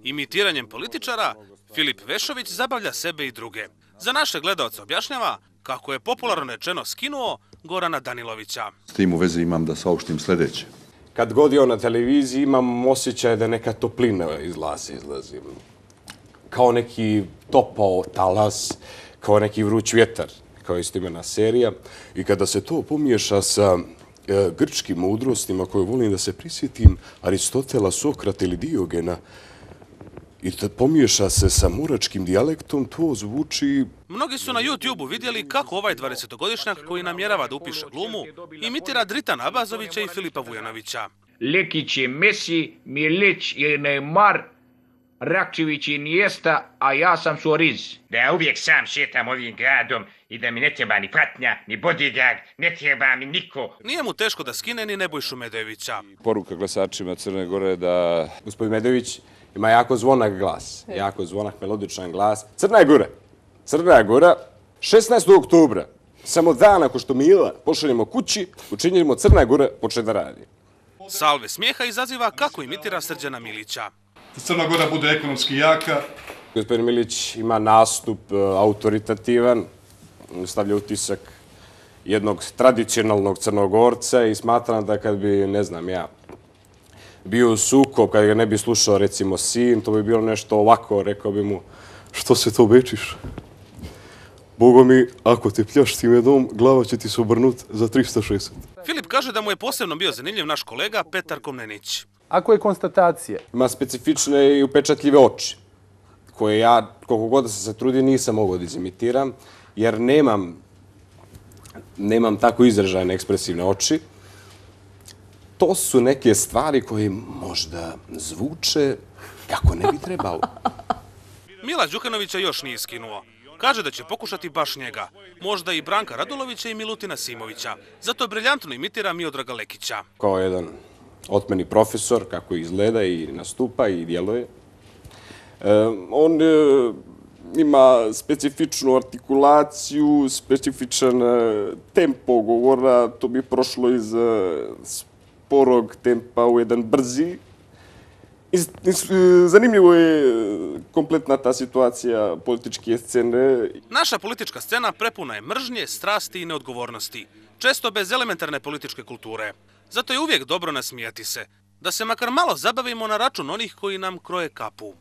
Imitiranjem političara, Filip Vešović zabavlja sebe i druge. Za naše gledaoce objašnjava kako je popularno rečeno skinuo Gorana Danilovića. S tim u vezi imam da saopštim sljedeće. Kad god je on na televiziji imam osjećaj da neka toplina izlazi. Kao neki topao talas, kao neki vruć vjetar, kao istoimena serija. I kada se to pomiješa sa grčkim mudrostima koje volim da se prisjetim, Aristotela, Sokrata ili Diogena, i da pomiješa se sa muračkim dijalektom, to zvuči... Mnogi su na YouTube-u vidjeli kako ovaj 20-godišnjak koji namjerava da upiše glumu imitira Dritana Abazovića i Filipa Vujanovića. Lekić je Messi, Milić je Neymar, Rakčević je Iniesta, a ja sam Suarez. Da uvijek sam šetam ovim gradom i da mi ne treba ni pratnja, ni bodyguard, ne treba mi niko. Nije mu teško da skine ni Nebojšu Medojevića. Poruka glasačima Crne Gore da... Gospodin Medojević ima jako zvonak glas, jako zvonak, melodičan glas. Crna Gora, Crna Gora, 16. oktobra, samo dan ako što Mila pošaljemo kući, učinimo Crna Gora počne da radi. Salve smijeha izaziva kako imitira Srđana Milića. Da Crna Gora bude ekonomski jaka. Gospodin Milić ima nastup autoritativan, stavlja utisak jednog tradicionalnog Crnogorca i smatram da kad bi, ne znam ja, bio u sukob, kad ga ne bi slušao recimo sin, to bi bilo nešto ovako, rekao bi mu, što se to bečiš? Bogo mi, ako te pljašti medom, glava će ti se obrnut za 360. Filip kaže da mu je posebno bio zanimljiv naš kolega Petar Komnenić. Ako je konstatacije? Ima specifične i upečatljive oči, koje ja, koliko god da sam se trudio, nisam mogao da izimitiram, jer nemam tako izražajne ekspresivne oči. To su neke stvari koje možda zvuče kako ne bi trebalo. Mila Đukanovića još nije skinuo. Kaže da će pokušati baš njega, možda i Branka Radulovića i Milutina Simovića. Zato briljantno imitira Miodraga Lekića. Kao jedan otmeni profesor, kako izgleda i nastupa i djeluje. On ima specifičnu artikulaciju, specifičan tempo govora, to bi prošlo iz sporog tempa u jedan brzi. Zanimljivo je kompletna ta situacija političke scene. Naša politička scena prepuna je mržnje, strasti i neodgovornosti, često bez elementarne političke kulture. Zato je uvijek dobro nasmijati se, da se makar malo zabavimo na račun onih koji nam kroje kapu.